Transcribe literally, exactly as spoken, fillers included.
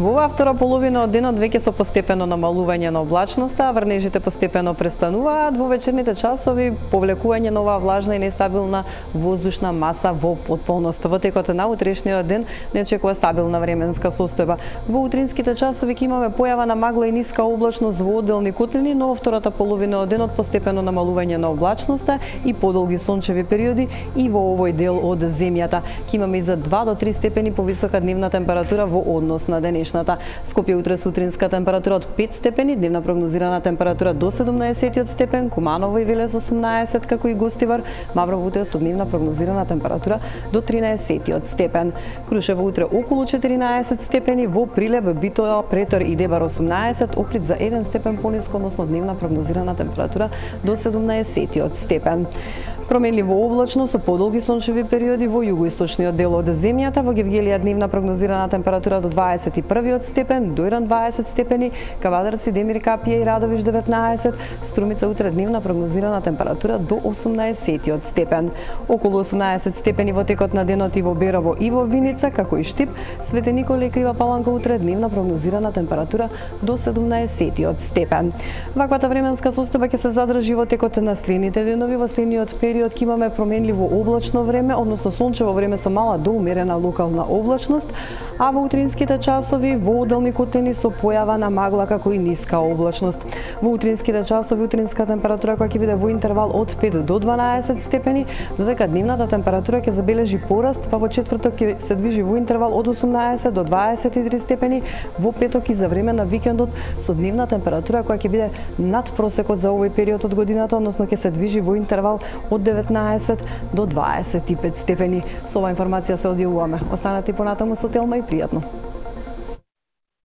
Во оваа втора половина од денот веќе со постепено намалување на облачноста, врнежите постепено престануваат, во вечерните часови повлекување на оваа влажна и нестабилна воздушна маса во потполност. Во текот на утрешниот ден не очекува стабилна временска состојба. Во утринските часови ќе имаме појава на магла и ниска облачност во одделни котлини, но во втората половина од денот постепено намалување на облачноста и подолги сончеви периоди и во овој дел од земјата. Ќе имаме и за два до три степени повисока дневна температура во однос на денешната. Скопје утре сутринска температура од пет степени, дневна прогнозирана температура до седумнаесет степен, Куманово и Велес осумнаесет, како и Гостивар, Маврово утре со дневна прогнозирана температура до тринаесет степен. Крушево утре околу четиринаесет степени, во Прилеп, Битола, Претор и Дебар осумнаесет, Охрид за еден степен пониско, односно дневна прогнозирана температура до седумнаесет степен. Променливо облачно со подолги сончеви периоди во југоисточниот дел од земјата, во Гевгелија дневна прогнозирана температура до дваесет и први степен, Дојран дваесет степени, Кавадар, Сидемир, Капија и Радовиш деветнаесет, Струмица утре дневна прогнозирана температура до осумнаесет степен. Околу осумнаесет степени во текот на денот и во Берово и во Виница, како и Штип, Свети Николе и Крива Паланка утре дневна прогнозирана температура до седумнаесет степен. Ваквата временска состојба ќе се задржи во текот на следните денови. Во следниот период ќе имаме променливо облачно време, односно сончево време со мала до умерена локална облачност, а во утринските часови во одделни котлини со појава на магла како и ниска облачност. Во утринските часови утринска температура која ќе биде во интервал од пет до дванаесет степени, додека дневната температура ќе забележи пораст, па во четврток ќе се движи во интервал од осумнаесет до дваесет и три степени, во петок и за време на викендот со дневна температура која ќе биде над просекот за овој период од годината, односно ќе се движи во интервал од деветнаесет до дваесет и пет степени. Со оваа информација се одјавуваме. Останете понатаму со Телма и пријатно.